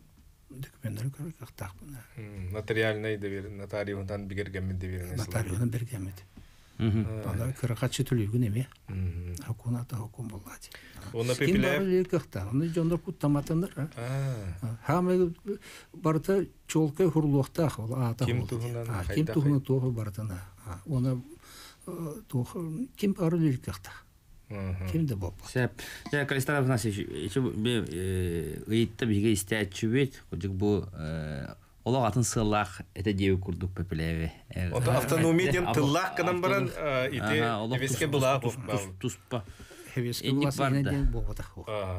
документтары көрөр кыахтаахпын. Нотариальный довер, нотариуһунан бигэргэммит доверенность. Нотариуһунан бигэргэммит. Ана кыракаччы төлүүгүн эмиэ. Хокуун ата хокуун буоллаати. Онно Ким бары үлэлиир кыахтаах. Оны дьоннор куттаматыннар. Хаамай барыта чуолкай хурлуохтаах ол аата. Ким туһунан Ким туһунан туох барытын. Оны туох ким бары үлэлиир кыахтаах. Ким да буолбат. Сөп. Дьэ, Калистар Афанасьевич, ичи ыйытта биһиги истээччибит, кудьук бу олох атын сыаллаах этэ диэби курдук Пепелеви. Ото автономия диэн тыллаах гынан баран ити эбиске былаах туспа. Эбиске былаах диэн буолбатах.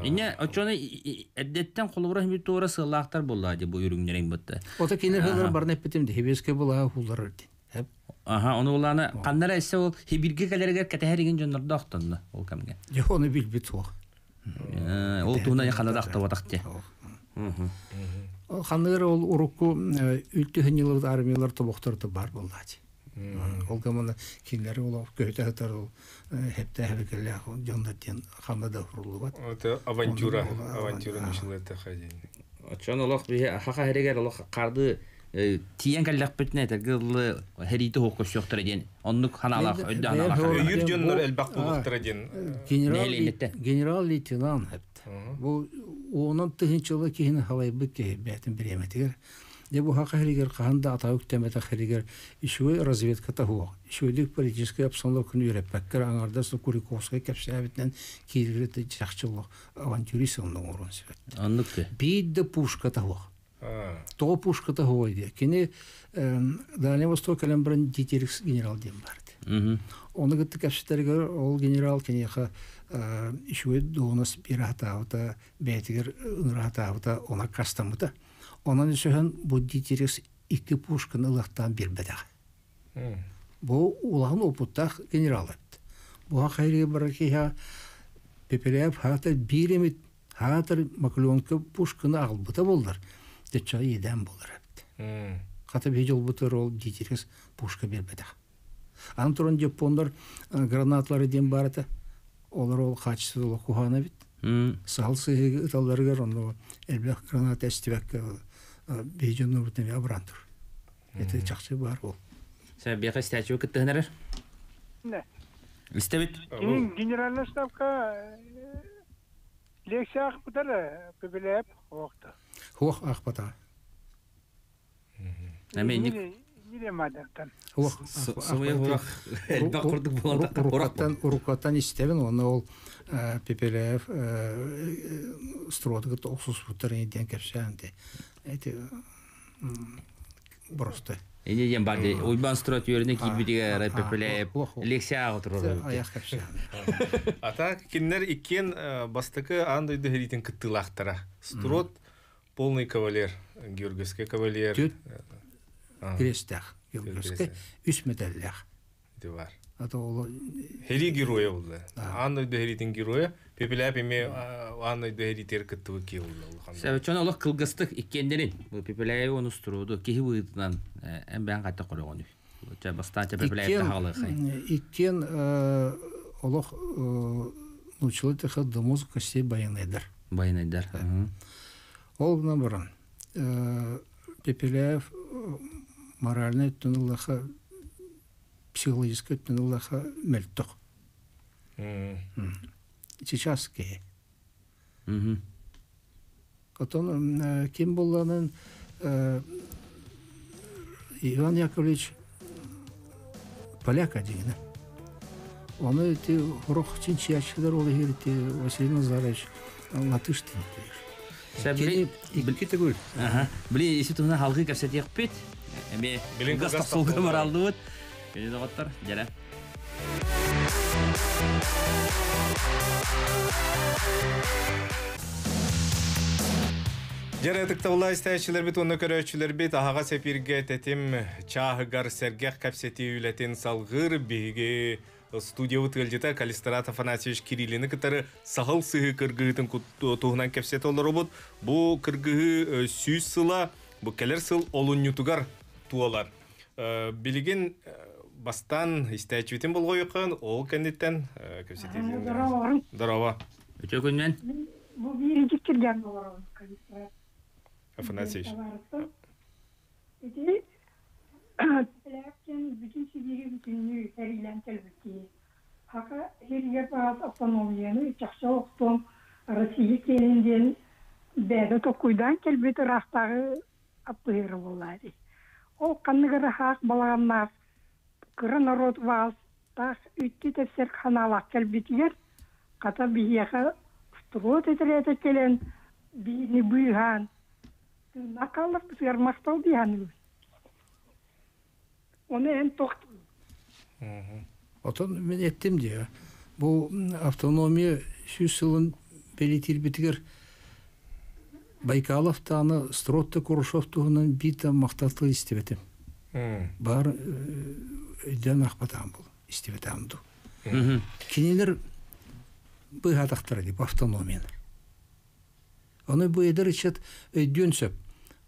Инне очону эрдеттен холобура хими туора сыаллаахтар буолла ди бу үрүҥнэриҥ бытта. Ото кинилер хылар барна эппитим ди хебеске былаах хуллар дин. Аха, ону улаана ханнара эссе ол хибирге кэлэригэр кэтэһэригин дьоннордоохтонно ол кэмҥэ. Дьэ, ону билбит суох. Ол туһунан ханна да ахтыбатах те. Ханныгар ол урукку үлтүһүн йылыбыт армиялар тобохторто бар буоллаачы. Ол гамана кинилэри ол көһүтэ сытар ол хепте-хебекеллээх дьоннор диэн ханна да уруллубат. Это авантюра, авантюра начала ходить. Очон олох биһи хаха хэригэр олох харды тиен кэллэхпитинэ этэргэ дылы хэриити хуох көрсүөхтэрэ диэн оннук ханаалаах өйдө ханаалаах Өйүр дьоннор элбэх буолуохтара диэн. Генерал-лейтенант хэпт. Бу уонан тыһыынчалы киһини халайбыт киһи бээтин бириэмэтигэр. Дьэ бу хаха хэригэр хаһан да атаҕы үктэммэтэх хэригэр үчүгэй разведката суох. Үчүгэйдик политическай обстановканы үөрэппэккэ аҥардас Куликовскай кэпсээбитинэн киирэрэ чахчы олох авантюрист онно оҥоруон сөп. Оннук Биир да пушката суох. Тоҕо пушката суоҕуй диye. Кини Дальний Восток кэлэн баран Дитерикс генерал диэн баар. Ону кытта кэпсэтэригэр ол генерал киниэхэ үчүгэй дуоһунас биэрэ сатаабыта, бэйэтигэр ыҥыра сатаабыта, оны аккаастаммыта. Онон өсөһөн бу Дитерикс икки пушканы ылыахтаан биэрбэтэх. Бу улахан опыттаах генерал эбит. Бу хайрыгы барар киһи Пепеляев хаатар биир эмит хаатар Маклёнка пушканы аҕалбыта буоллар, төччөҕө иэдээн буолар эбит. Хата биһи дьолбутугар ол Дитерикс пушка биэрбэтэх. Аны туран дьоппуоннар гранаталары диэн баар этэ. Олор ол хаачыстыбата олох куһаҕан эбит. Саһыл сыһыыга ыталларыгар онно элбэх граната эстибэккэ биһи дьоннорбут эмиэ абыраан тур. Это чахчы баар ол. Сәбиэхэ истээччи кыттыһын эрэр. Истэбит. Генеральный штабка лекция аахпытар Пепеляев оохто. Хуох аахпата. Уруккаттан истэбин уонна ол Пепеляев стройга охсуспуттар диэн кэпсээн эти просто. Эне диэн бар Уйбан строй түөрүнэ киирбитигэр Пепеляев лекция отырор. Аяқ кэпсээн. Ата кинилэр иккиэн бастакы аан дойду сэриитин кыттыылаахтара. Строд полный кавалер, Георгиевский кавалер. Түт крестах, Георгиевский үс медаллях. Ити бар. Ата ол Хери героя булла. Аан дойду сэриитин героя. Пепеляев эмиэ аан дойду сэриитигэр кыттыбыт киһи булла. Чон олох кылгастык иккиэннэрин. Бу Пепеляев оны строду киһи быытынан эн бэйэн хатта көрөҕөнүй. Бастаан Пепеляев таһалыхай. Иккиэн олох научилы теха до мозга костей баянайдар. Баянайдар. Ол гынан баран Пепеляев моральный өттүн ыллаха, психологическай өттүн ыллаха мөлтөх. Сейчас киһи. Отон ким булланын Иван Яковлевич поляк дигинэ. Оны эти хорох чинчиячылар ол ити Василий Назарович латыш Кини икки төгүл. Били isi туһуна халгы кэпсэтиэхпит. Эми газ тохсулга баралдыбыт. Кини доҕоттор, дьэрэ. Дьэрэ ытыктабыллаах истээччилэрбит уонна көрөөччүлэрбит аһаҕас эфиргэ тэтим чааһыгар сэргэх кэпсэтии үлэтин салгыыр биһиги студиябыт ыалдьыта Калистрат Афанасьевич Кириллини кытары саһыл сыһыы кыргыһыытын туһунан кэпсэтэ олоробут. Бу кыргыһыы 100 сыла бу кэлэр сыл олунньутугар туолар. Билигин бастаан истээччибитин болҕойуоххайын, ол кэнниттэн кэпсэтиитин. Здорово. Үтүө күнүнэн. Бу бииринчи киргэн олоробун Калистрат. Афанасьевич. Ити Пепеляевкин бүтүн сибиири бүтүннүү сэриилээн кэлбит киһи. Хака сиригэр баас автономияны чахчы олохтуом Россия киэнин диэн бэйэтэ толкуйдаан кэлбит ыраахтааҕы аппыһыара буоллаа дии. Ол ханнык эрэ хаах балаҕаннаах кыра норуот баҕастаах үттү тэпсэр ханаалаах кэлбитигэр хата биһиэхэ строй тэтэрээтэ кэлэн биһини быыһаан тыыннаах хаалларбытыгар махтал дии саныыбын. Ону эн тох Отон мин эттим дии, бу автономия 100 сылын бэлиэтиирбитигэр Байкалов даҕаны Стротто Курушев туһунан биир да махтал тыл истибэтим. Баар өйдөөн аахпатаҕым буолуо, истибэтэҕим дуу. Кинилэр быыһаатахтара дии бу автономияны. Ону бу эдэр ыччат өйдүөн сөп.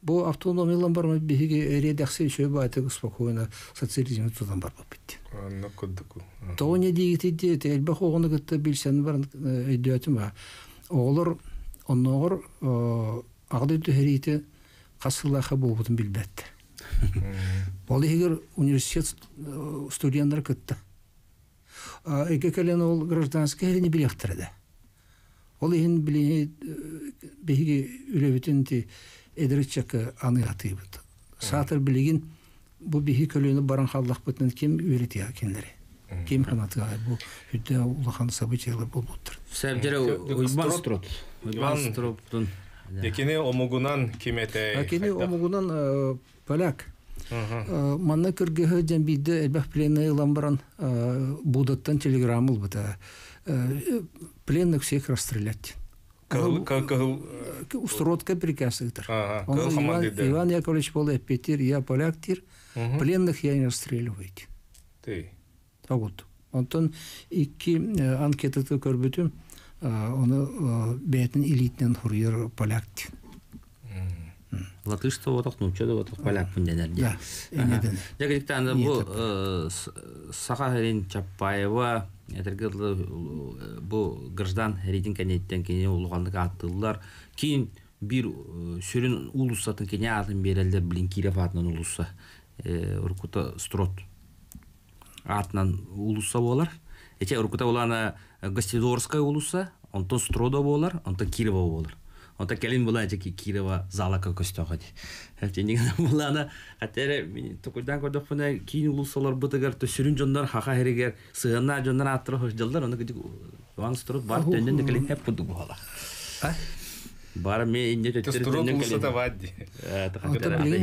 Бу автономиялан барма биһиги эриэдэхси үчүгэй баайтык спокойно социализмы тутан барбаппыт. Онно курдук. Тоҕо не диигитий диэти элбэх оҕону кытта билсэн баран өйдөөтүм аа. Оҕолор оннооҕор аҕа дойду сэриитэ хас сыллаахха буолбутун билбэттэр. Ол иһигэр университет студеннара кытта. Эгэ кэлэн ол гражданскай сэриини билиэхтэрэ да. Ол иһин билиҥҥи биһиги үлэбитин ити эдэр ыччакка аныы сатыыбыт. Саатар билигин бу биһи көлүөнэ баран хааллахпытына ким үөрэтиэҕэ кинилэри? Ким санатыаҕай бу үрдэ улахан событиелар буолбуттар. Сәбдэрэ Уйбан Строт. Уйбан Строптун. Кини омугунан ким этэй? Кини омугунан поляк. Манна кыргыһы дьэн биирдэ элбэх пленный ылан баран Будаттан телеграмма ылбыта. Пленных всех расстрелять. Устротка приказ ыытар. Иван Яковлевич был эппетир, я поляк тир, пленных я не расстреливаю. Ты. Вот. Онтон икки анкетаты көрбүтүм, оны бэйэтин илиитинэн хуруйар поляк Латыш да отох, нуучча да отох, полякпын дэнэр дии. Дьэ, кырдьыктаан бу Саха сирин Чапаева этэргэ дылы бу граждан сэриитин кэнниттэн кини улаханнык ааттыыллар. Киин биир сүрүн уулуссатын кини аатын биэрэллэр, билин Киров аатынан уулусса. Уруккута Строт аатынан уулусса буолар. Ити уруккута улаана Гостидорская уулусса, онтон Стродо буолар, онтон Кирова буолар. Онтон кэлин була ити Кирова залака көстөөх ити. Тинигэн булаана хатера токуйдаан көрдөхпүнэ киин уулуссаларбытыгар сүрүн дьоннор хаха хэригэр сыһыаннаах дьоннор ааттара сылдьаллар, ону кыдык Иван Строд бар төннөн да кэлин хэп курдук буола. Бара ме инне төттөрү төннөн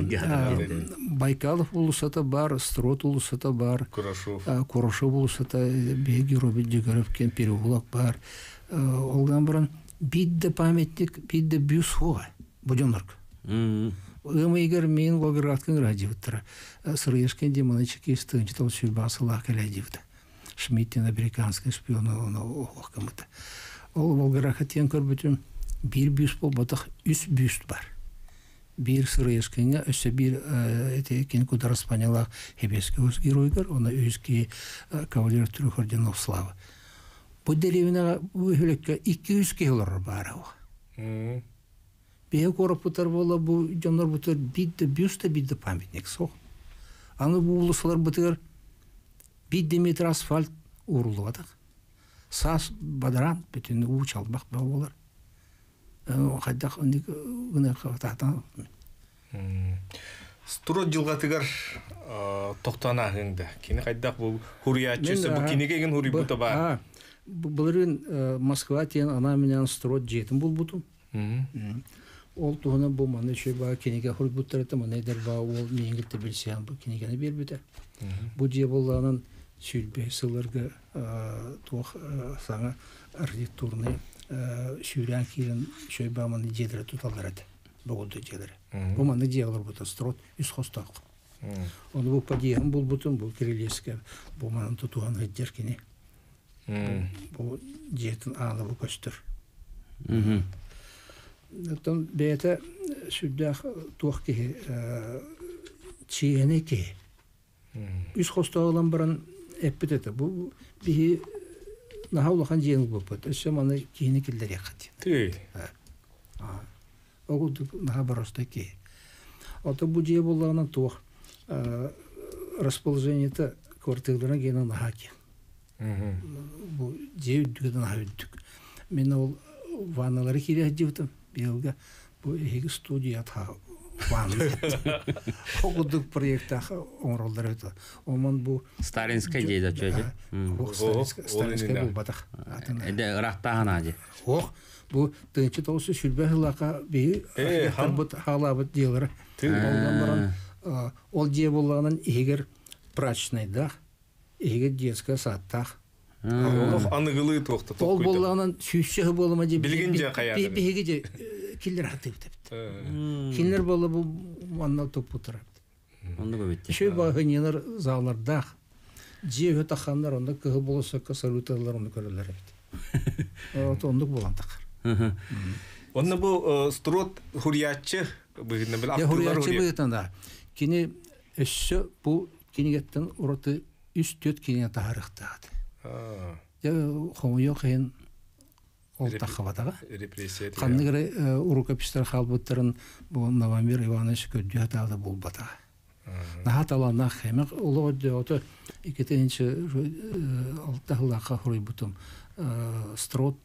кэлин. Байкалов уулуссата бар, Строд уулуссата бар, Курашов уулуссата, биһиги Робин Дегоров кем переулок бар. Ол гынан баран биир да памятник, биир да бюст суоҕа бу дьоннорго. Ыам ыйыгар миин Волгоградка ыраадьыбыттара. Сырыешкин Димонычыки тыынча сүүрбэ сыллаах кэлээдьибитэ. Шмидтин американский шпион ону оһох гыммыта. Ол Волгоградка тиийэн көрбүтүм биир бюст буолбатах, үс бюст бар. Биир Сырыешкиҥҥа өссө биир ити кини кудараспанялаах Хебески геройгар, оны үс киһи кавалер трех орденов славы. Бу дэриэбинэҕэ бу үһүлэккэ 200 киһи олорор баара. Биһи куораппытар буола бу дьоннорбутугар биир да бюст да биир да памятник суох. Аны бу уулуссаларбытыгар биир да метр асфальт ууруллубатах. Саас бадараан бүтүн уу чалбах бөҕө буолар. Хайдах оннук гыныахха таатан. Строд дьылҕатыгар тохтоон ааһыаҥ да. Кини хайдах бу хуруйааччы бу кинигэ игин хуруйбута баар. Былырыын Москва тиэн анаан-минээн Строд дьиэтин булбутум. Ол туһунан бу манна үчүгэй баа кинигэ суруйбуттар этэ, манна эдэр баа уол миигин кытта билсиһэн бу кинигэни биэрбитэ. Бу дьиэ буоллаҕынан сүүрбэ сылларга туох саҥа архитектурнай сүүрээн киирэн үчүгэй баа манна дьиэлэри туталлар этэ. Богуду дьиэлэри. Бу манна дьиэ олорбута Строд үс хостоох. Ону бу подъеһын булбутум, бу кирилиэскэ бу манан тутуһан сылдьар кини. Бу дьиэтин аана бу көстөр. Оттон бэйэтэ сүрдээх туох киһи чиэһинэй киһи. Үс хостоох ылан баран эппит этэ бу биһи наһаа улахан дьиэни ылбыппыт өссө маны киһини киллэриэххит. Ол курдук наһаа боростой киһи. Ото бу дьиэ буоллаҕына туох расположениета квартираларын гиэнэ наһаа киэҥ. Бу дьиэ үрдүгэ да наһаа үрдүк. Мин ол ванналары киирэ сылдьыбытым быйылга бу эһиги студия ванна ол курдук проектаах оҥороллор эбит. Омон бу Сталинскай дьиэ да чүөчэ. Сталинскай буолбатах. Эдэ ыраахтааһын аадьы. Ох, бу тыынчы тоҕус сүүрбэ сыллаахха биһи архитекторбут хаалаабыт дьиэлэрэ. Онон баран ол дьиэ буоллаҕынан иһигэр прачечнайдаах, иһигэр детская садтаах. Олох аныгылыы туохта Ол буоллаҕынан сүүсчэ буолума дьэ билигин дьэ хайаатар. Биһиги дьэ киллэр хатыыбыт эбит. Кинилэр буолла бу манна туппуттар эбит. Оннук эбит. Үчүгэй баһыньалар заалардаах. Дьиэ үһү тахханнар онно кыһыл болосокко салюталар онно көрөллөр эбит. Вот оннук буолан тахар. Онно бу Строд хуруйааччы быһыытынан били Дьэ, ахтыылар хуруйааччы уруйар. быһыытынан да. Кини өссө бу кинигеттен ураты үс-түөрт кинигэ таһаарыахтаах этэ. Дьэ, хомойуох иһин ол таххабатаҕа. Репрессия Ханнык эрэ рукописьтар хаалбыттарын бу Новомир Иванович көрдүү сатаабыта буолбатаҕа. Наһаа талааннаах хэмэх олох өйдөөҕүтэ иккитинчи алта сыллаахха суруйбутум Строд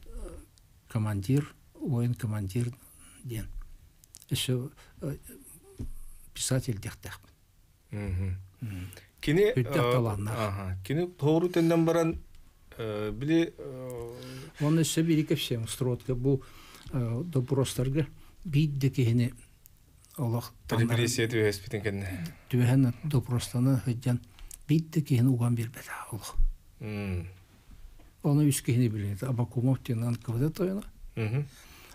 командир, воин командир диэн. Өссө писатель диэхтээхпин. Кини Үрдэх талааннаах. Кини тоору төннөн баран били Онно өссө биири кэпсиэм Стродка бу допростарга биир да киһини олох репрессия түбэспитин кэннэ. Түбэһэн допростаны сылдьан биир да киһини уган биэрбэтэх олох. Оны үс киһини билинит. Абакумов диэн НКВД тойоно.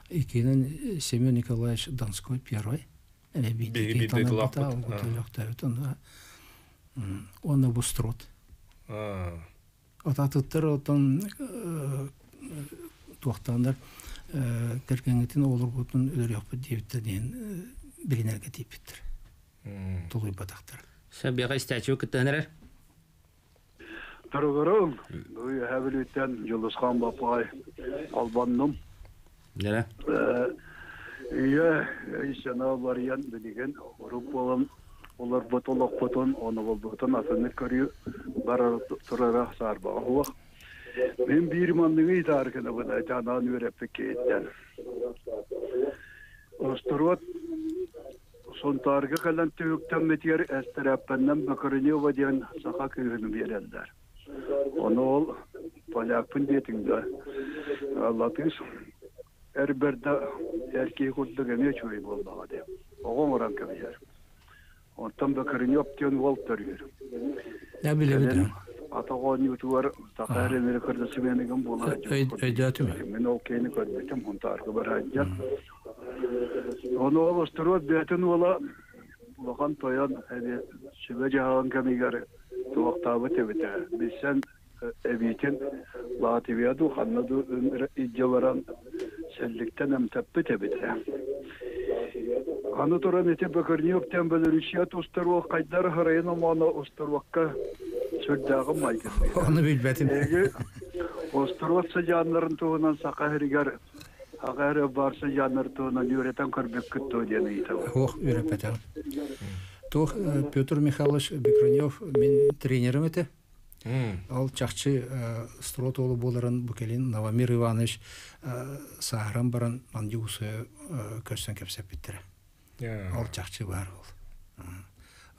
Иккинэн Семен Николаевич Донской первый. Эме биирдэ Биһиги киһи биирдэ танарбата, тулаахпыт. олохтообут. Уонна бу Строд. Ататыттар оттон туохтааннар кэргэҥҥитин оҕолоргутун өлөрүөхпүт диэбиттэр диэн билинэргэ тиийбиттэр. Тулуйбатахтар. Сөп, истээччи кыттыһан эрэр. Туругуруҥ, Үөһээ Бүлүүттэн Дьулусхан Баппаҕай холбоннум. Дэрэ. Үйэ өй-санаа уларыйан билигин урук буолан олорбут олохпутун, оноҕолбутун атыннык көрүү барар турара саарбаҕа суох. Мин биир манныгы ыйытаары гынабын айтаанаан үөрэппит киһиттэн. Остуруот Сунтаарга кэлэн түһүктэммитигэр эстэрээппэннэн Бакарынева диэн саха кыыһын биэрэллэр. Ону ол полякпын диэтиҥ да, латыыс эр бэрдэ эр киһи курдук эмиэ үчүгэй буоллаҕа дии. Оҕо оҥорон кэбиһэр. Оттон Бакарынев диэн уол төрүүр. Я билэбит. Атах оонньуутугар саха эрэ кырдасыбыаныгын буолар. Өйдөөтүм. Мин ол киһини көрбүтүм, Хунтаарга бараадьан. Ону ол остуруот бэйэтин уола улахан тойон сүбэ дьаһалын кэмигэр туохтаабыт эбитэ. Билсэн эбиитин Латвия дуу, ханна дуу илдьэ баран сэлликтэн эмтэппит эбитэ. Аны туран ити Бөкөрньүөк диэн Белоруссия тустаруок хайдар харайын омооно устаруокка сүрдээҕин майгынныыр. Ону билбэтим. Эһиги остуруот сыдьааннарын туһунан саха сиригэр аҕа эрэ баар сыдьааннар туһунан үөрэтэн көрбүккүт дуо диэн ыйытабын. Ох, үөрэппэтэҕим. Туох Петр Михайлович Бекренев мин тренерим этэ. Ол чахчы строт уолу буоларын бу кэлин Новомир Иванович сааһыран баран Мандюгусуя көрсөн кэпсэппиттэрэ. Ол чахчы баар ол.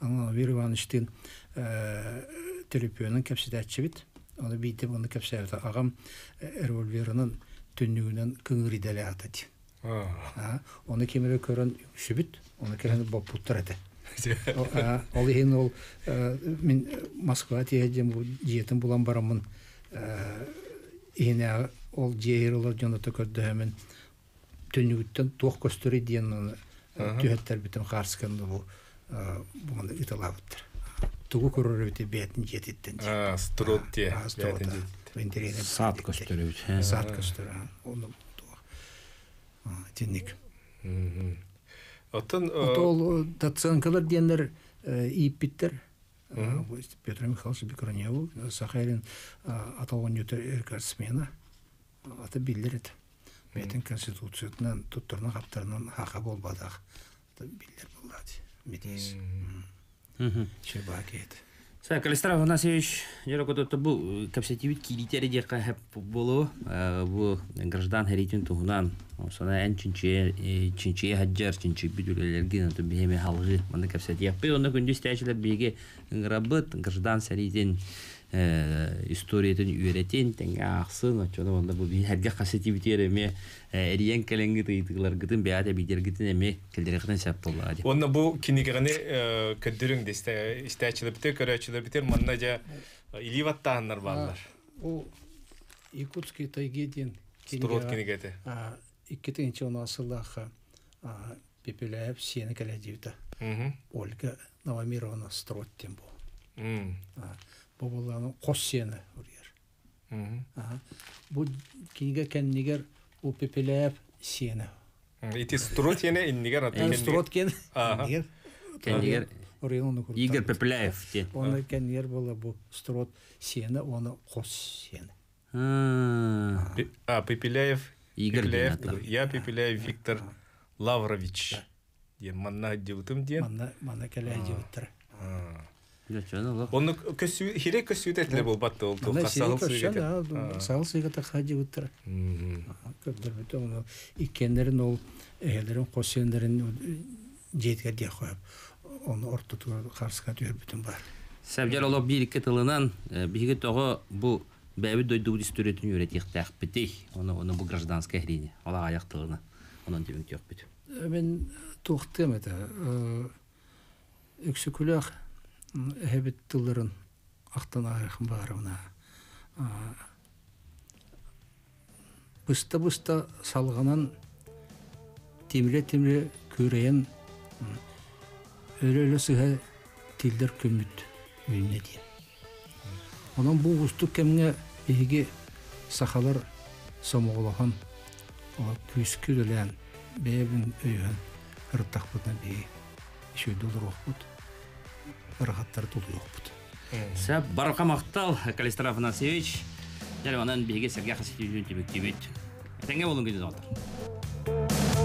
Новомир Ивановичтыын төлөпүөнүн кэпсэтээччибит. Ону биирдэ ону кэпсээбитэ. Аҕам револьверынан түннүгүнэн кыҥыр идэлээх этэ. Ону ким эрэ көрөн үксүбүт, ону кэлэн боппуттар этэ. Ол иһин ол мин Москва тиэһэ бу дьиэтин булан бараммын иһинээҕи ол дьиэ иһигэр олор дьону көрдөһөмүн түннүгүттэн туох көстөрүй диэн түһэттэрбитим хаарсканы бу буганы ыталаабыттар. Тугу көрөр эбити бэйэтин дьиэтиттэн. Строт дьиэ. Саат көстөр эбит. Саат көстөр. Оны Итинник. Оттон Ол доценкалар диэннэр ииппиттэр. Петр Михайлович Бекроневу Сахалин аталонньута смена аты биллэр этэ. Бэйэтин конституциятынан туттарынан хаптарынан хаха буолбатах биллэр буоллаат. Метис. Чебаки это. Сэ, Калистар Афанасьевич, дьэ бу кэпсэтиибит киириитэ эрэ диэххэ сөп буолуо. Бу граждан сэриитин туһунан сана эн чинчийэ чинчийэ сылдьар чинчийбит үлэлэргин оту биһи эмиэ салҕыы манна кэпсэтиэхпит. Онно күндү истээччилэр биһиги ыҥырабыт граждан сэриитин историятын үөрэтин тэҥҥэ аахсын оччону онно бу биһи сэргэх кэпсэтиибитигэр эмиэ эрийэн кэлэҥҥит ыйытыыларгытын бэйэҕит эбиитэргитин эмиэ кэллэриэххитин сөп буоллаҕа дии. Уонна бу кинигэни көрдөрүҥ истээччилэрбитигэр, көрөөччүлэрбитигэр манна дьэ илии баттааһыннар бааллар. Ол Якутские тайги диэн Строт кинигэтэ. 2010 сыллаахха Пепеляев сиэнэ кэлэ диэбитэ. Ольга Новомировна Строт диэн бу. Бу буоллаҕына хос сиэнэ уруйар. Бу кинигэ кэннигэр у Пепеляев сиэнэ. Ити Строт иэнэ иннигэр атын Строт киэн иннигэр. Кэннигэр Игорь Пепеляев диэн. Оны кэннигэр буола бу Строт сиэнэ уонна хос сиэнэ. А, Пепеляев Игорь Пепеляев, я Пепеляев Виктор Лаврович диэн манна сылдьыбытым диэн. Манна манна кэлэ сылдьыбыттара. Онну көссүү хире көссүүтэ этиле буолбат ол туохха саһыл сыыгата. Саһыл сыыгата хаадьыбыттара. Көрдөрбүтэ ону иккиэннэрин ол эһэлэрин хос сиэннэрин дьиэтигэр диэх хоһоп. Ону ортотугар харска түһэрбитим бар. Сәбдьэр олох биир икки тылынан биһиги тоҕо бу бэйэбит дойдубут историятын үөрэтиэхтээхпитий? Ону ону бу гражданскай эһириини ол аҕайах тылына онон түмүктүөхпүт. Мин туохтыам этэ Өксөкүлээх эһэбит тылларын ахтан ааһыахым баарына быста-быста салҕанан тимирэ-тимирэ күөрэйэн өлө-өлө сыһа тиллэр күммүт үүннэ диэн. Онон бу уустук кэмҥэ биһиги сахалар сомоҕолоһон, күүскэ үлэлээн, бэйэбин өйөһөн ырыттахпытына биһиги үчүгэйдик олоруохпут, ыарахаттары тулуйуохпут. Сөп, барҕа махтал, Калистра Афанасьевич. Дьэ, онон биһиги сэргэх хасытыытын түмүктүүбүт. Этэҥҥэ буолуҥ күндү доҕоттор.